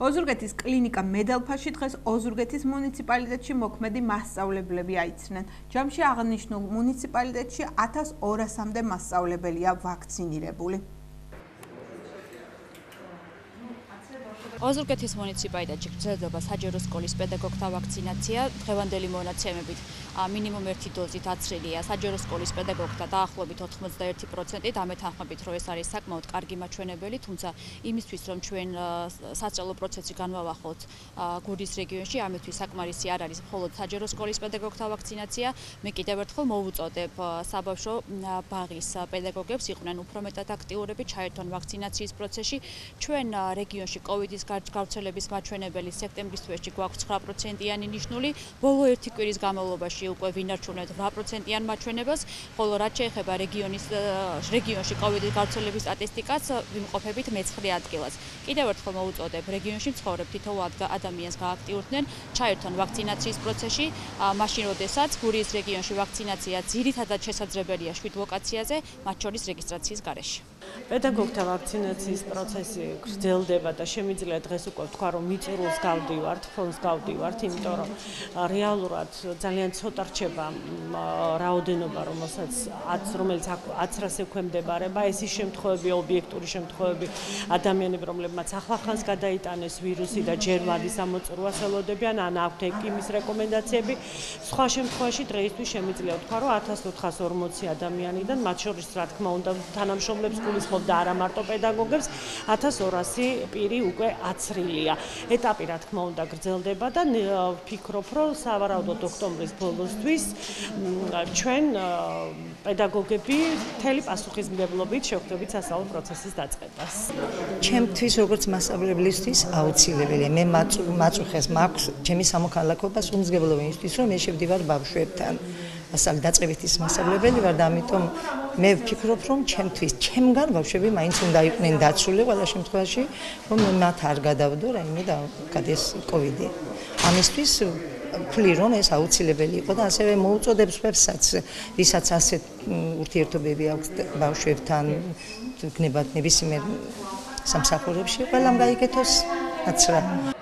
ოზურგეთის კლინიკა მედელფაში დღეს ოზურგეთის მუნიციპალიტეტში მოქმედი მასწავლებლები აიცნენ. ჯამში აღნიშნულ მუნიციპალიტეტში 1200-მდე მასწავლებელია ვაქცინირებული. ოზურგეთის მუნიციპალიტეტში გრძელდება საჯარო სკოლის პედაგოგთა ვაქცინაცია. დღევანდელი მონაცემებით მინიმუმ 1 დოზით აცრილია საჯარო სკოლის პედაგოგთა დაახლოებით 91%, ამეთანხმებით, რომ ეს არის საკმაოდ კარგი მაჩვენებელი, თუმცა იმისთვის, რომ ჩვენ სასწავლო პროცესი განვავახოთ გურიის რეგიონში, ამისთვის საკმარისი არ არის მხოლოდ საჯარო სკოლის პედაგოგთა ვაქცინაცია. მე კიდევ ერთხელ მოვუწოდებ საბავშვო ბაღის პედაგოგებს, იყვნენ უფრო მეტად აქტიურები, ჩაერთონ ვაქცინაციის პროცესში. ჩვენ რეგიონში კოვიდის გავრცელების მაჩვენებელი სექტემბრის თვეში გვაქვს 9%-იანი ნიშნული, ბოლო 1 კვირის განმავლობაში უკვე ვინარჩუნებთ 8%-იან მაჩვენებას, ხოლო რაც შეეხება რეგიონში კოვიდის გავრცელების სტატისტიკას, ვიმყოფებით მე-9 ადგილას. კიდევ ერთხელ მოვუწოდებ რეგიონში მცხოვრებ თითოეულ ადამიანს გააქტიურდნენ, ჩაერთონ ვაქცინაციის პროცესში, მაშინ როდესაც გურიის რეგიონში ვაქცინაცია ძირითადად შესაძლებელია 7 ლოკაციაზე, მათ შორის რეგისტრაციის გარეშე. პედაგოგთა ვაქცინაციის პროცესი გრძელდება და შემიძლია დღეს უკვე ვთქვა, რომ მიწურულს გავდივართ, ფონს გავდივართ, იმიტომ რომ რეალურად ძალიან ცოტა რჩება რაოდენობა, რომელიც აცრას ექვემდებარება. ეს ის შემთხვევები, ობიექტური შემთხვევები, ადამიანები, რომლებმაც ახლახანს გადაიტანეს ვირუსი და ჯერ ვადის ამოწურვას ელოდებიან, ან აქვთ ეკიმის რეკომენდაციები. სხვა შემთხვევაში დღეისთვის შემიძლია ვთქვა, რომ 1440 ადამიანიდან, მათ შორის რა თქმა უნდა თანამშრომლებს გულისხმობ და არა მარტო პედაგოგებს, 1200 პირი უკვე აცრილია. ეტაპი რა თქმა უნდა გრძელდება და ვფიქრობ, რომ სავარაუდოდ ოქტომბრის ბოლოსთვის ჩვენ პედაგოგები მთელი პასუხისმგებლობით შევხვდებით სასწავლო პროცესის დაწყებას. ჩემთვის როგორც მასწავლებლისთვის აუცილებელია. მე მაწუხეს მაქვს ჩემი სამოქალაქობას უმსგებლობა იმისთვის, რომ მე შევდივარ ბავშვებთან. დაწყებითი მასწავლებელი ვარ და ამიტომ მე ვფიქრობ, რომ ჩემგან ბავშვები მაინც უნდა იყვნენ დაცული ყველა შემთხვევაში, რომ მათ არ გადავდო რაიმე და გადეს კოვიდი. ამისთვის ვფლი, რომ ეს აუცილებელი იყო და ასევე მოუწოდებ სხვებსაც, ვისაც ასეთ ურთიერთობები აქვს ბავშვებთან, გნებათ ნებისმიერ სამსახურებში, ყველამ გაიგეთოს აცრა.